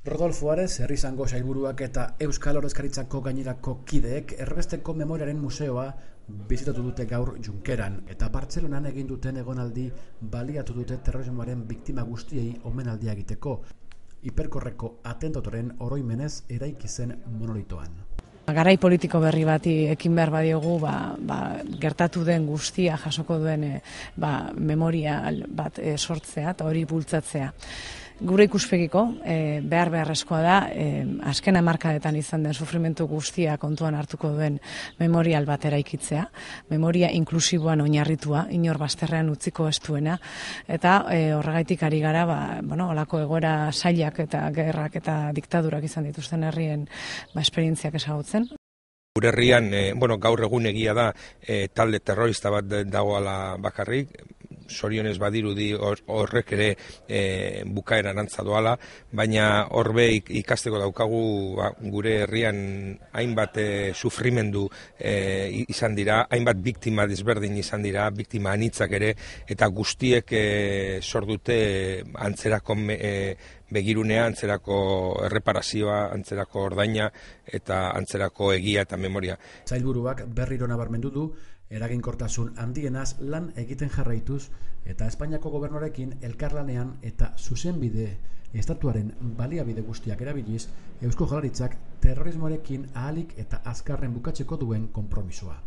Rodolfo Ares, herri izango sailburuak eta Euskal Ordezkaritzako gainerako kideek Erbesteko Memoriaren Museoa bizitatu dute gaur Junkeran, eta Bartzelonan egin duten egonaldi baliatu dute terrorismoaren biktima guztiei omenaldia egiteko, hiperkorreko atentatoren oroimenez eraiki zen monolitoan. Garai politiko berri bati ekin behar badiogu, gertatu den guztia jasoko duen memoria bat sortzea eta hori bultzatzea. Gure ikuspegiko beharrezkoa da azken hamarkadetan izan den sufrimentu guztia kontuan hartuko duen memorial bat eraikitzea, memoria inklusiboan oinarritua, inor bazterrean utziko ez duena, eta horregaitik ari gara holako egoera zailak eta gerrak eta diktadurak izan dituzten herrien esperientziak ezagutzen. Gure herrian, gaur egun egia da talde terrorista bat dagoela bakarrik, sorionez badirudi horrek ere bukaeran antza doala, baina horbe ikasteko daukagu gure herrian hainbat sufrimendu izan dira, hainbat biktima desberdin izan dira, biktima anitzak ere, eta guztiek sordute antzerako begirunea, antzerako erreparazioa, antzerako ordaina eta antzerako egia eta memoria. Sailburuak berriro nabarmendu du eraginkortasun handienaz lan egiten jarraituz eta Espainiako gobernuarekin elkarlanean eta zuzenbide estatuaren baliabide guztiak erabiliz Eusko Jaurlaritzak terrorismoarekin ahalik eta azkarren bukatzeko duen konpromisoa.